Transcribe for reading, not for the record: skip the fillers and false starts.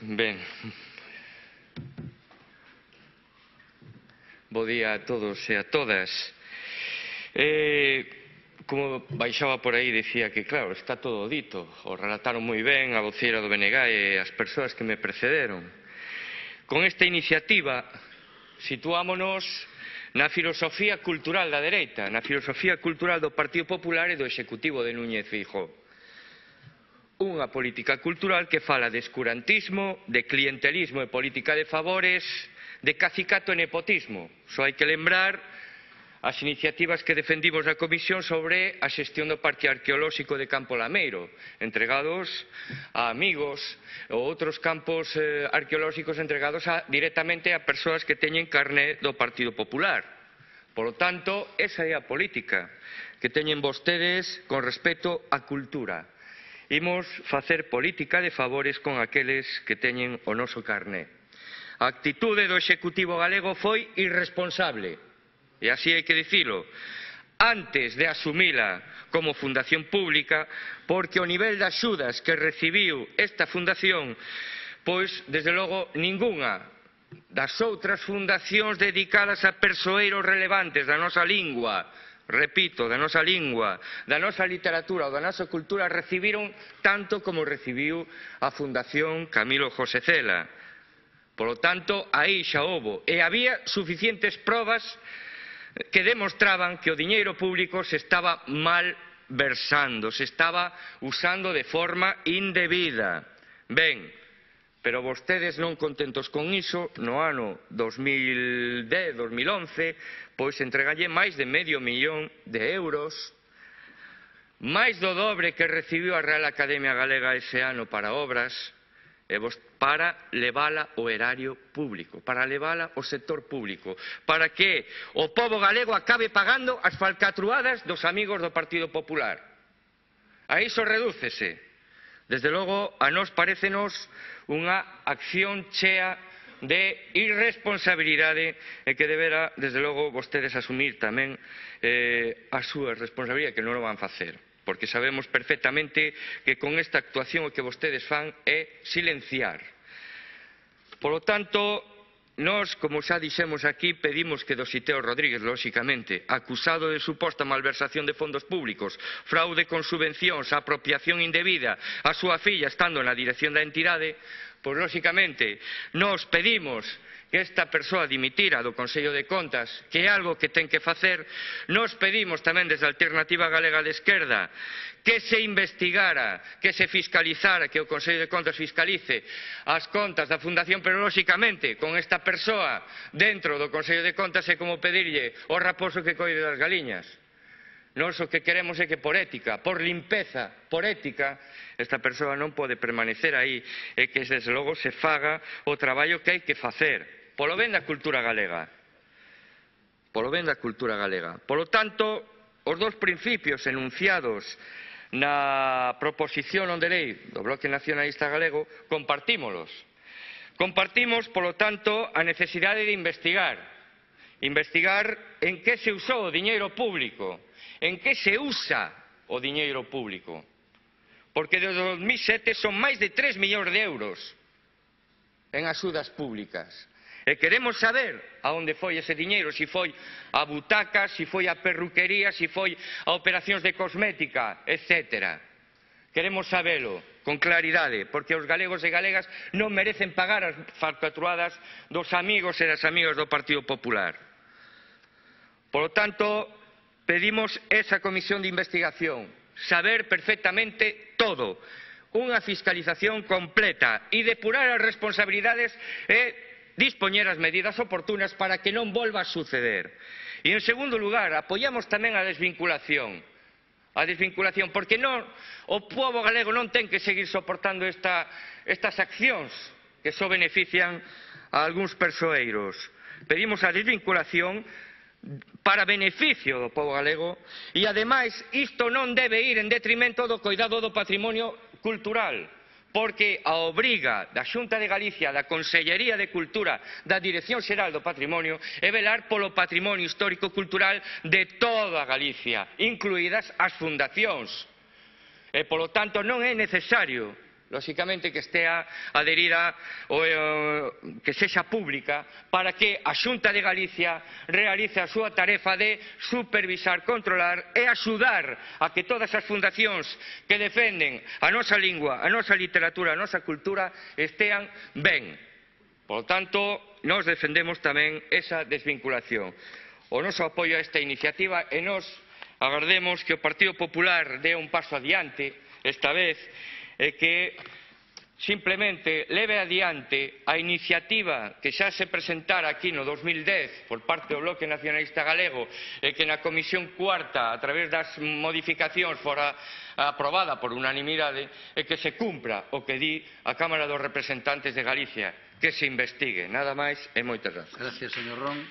Ben, bo día a todos e a todas. Como baixaba por aí, dicía que, claro, está todo dito. O relataron moi ben a voceira do BNG e as persoas que me precederon. Con esta iniciativa situámonos na filosofía cultural da dereita, na filosofía cultural do Partido Popular e do Executivo de Núñez Feijóo. Unha política cultural que fala de escurantismo, de clientelismo e política de favores, de cacicato e nepotismo. Só hai que lembrar as iniciativas que defendimos na comisión sobre a xestión do Parque Arqueolóxico de Campo Lameiro, entregados a amigos, ou outros campos arqueolóxicos entregados directamente a persoas que teñen carné do Partido Popular. Por lo tanto, esa é a política que teñen vostedes con respecto á cultura. Imos facer política de favores con aqueles que teñen o noso carné. A actitude do Executivo galego foi irresponsable. E así hai que dicilo, antes de asumila como fundación pública, porque o nivel de axudas que recibiu esta fundación, pois, desde logo, ningunha das outras fundacións dedicadas a persoeiros relevantes da nosa lingua, repito, da nosa lingua, da nosa literatura ou da nosa cultura, recibiron tanto como recibiu a Fundación Camilo José Cela. Por lo tanto, aí xa houbo, e había suficientes probas que demostraban que o diñeiro público se estaba mal versando, se estaba usando de forma indebida. Ben, pero vostedes non contentos con iso, no ano 2010-2011, pois entregalle máis de medio millón de euros, máis do dobre que recibiu a Real Academia Galega ese ano para obras, para levala ao erario público, para levala ao sector público, para que o pobo galego acabe pagando as falcatruadas dos amigos do Partido Popular. A iso redúcese. Desde logo, a nós parécenos unha acción chea de irresponsabilidade e que debera, desde logo, vostedes asumir tamén a súa responsabilidade, que non o van facer. Porque sabemos perfectamente que con esta actuación o que vostedes fan é silenciar. Por lo tanto, nós, como xa dixemos aquí, pedimos que Dositeo Rodríguez, lóxicamente, acusado de suposta malversación de fondos públicos, fraude con subvencións, apropiación indebida, a súa filla estando na dirección da entidade, pois, lóxicamente, nós pedimos que esta persoa dimitira do Consello de Contas, que é algo que ten que facer. Nós pedimos tamén desde a Alternativa Galega de Esquerda que se investigara, que se fiscalizara, que o Consello de Contas fiscalice as contas da Fundación, pero lóxicamente con esta persoa dentro do Consello de Contas é como pedirlle ao raposo que coide das galiñas. Nós o que queremos é que por ética, por limpeza, por ética, esta persoa non pode permanecer aí e que desde logo se faga o traballo que hai que facer polo ben da cultura galega. Polo ben da cultura galega. Polo tanto, os dous principios enunciados na proposición non de lei do Bloque Nacionalista Galego compartímolos. Compartimos, polo tanto, a necesidade de investigar. Investigar en que se usou o diñeiro público, en que se usa o diñeiro público. Porque desde 2007 son máis de 3 millóns de euros en axudas públicas. E queremos saber a onde foi ese diñeiro, se foi a butacas, se foi a perruquería, se foi a operacións de cosmética, etc. Queremos sabelo con claridade, porque os galegos e galegas non merecen pagar as falcatruadas dos amigos e das amigas do Partido Popular. Por lo tanto, pedimos esa comisión de investigación, saber perfectamente todo, unha fiscalización completa e depurar as responsabilidades e dispoñer as medidas oportunas para que non volva a suceder. E, en segundo lugar, apoiamos tamén a desvinculación. A desvinculación, porque non, o pobo galego non ten que seguir soportando estas accións que só benefician a algúns persoeiros. Pedimos a desvinculación para beneficio do pobo galego e, ademais, isto non debe ir en detrimento do coidado do patrimonio cultural, porque a obriga da Xunta de Galicia, da Consellería de Cultura, da Dirección Xeral do Patrimonio, é velar polo patrimonio histórico-cultural de toda Galicia, incluídas as fundacións. E, polo tanto, non é necesario lóxicamente que estea adherida ou que sexa pública para que a Xunta de Galicia realice a súa tarefa de supervisar, controlar e axudar a que todas as fundacións que defenden a nosa lingua, a nosa literatura, a nosa cultura estean ben. Por lo tanto, nós defendemos tamén esa desvinculación. O noso apoio a esta iniciativa e nós agardemos que o Partido Popular dé un paso adiante esta vez e que simplemente leve adiante a iniciativa que xa se presentara aquí no 2010 por parte do Bloque Nacionalista Galego e que na Comisión Cuarta, a través das modificacións, fora aprobada por unanimidade, e que se cumpra o que di a Cámara dos Representantes de Galicia, que se investigue. Nada máis e moitas grazas. Gracias, señor Ron.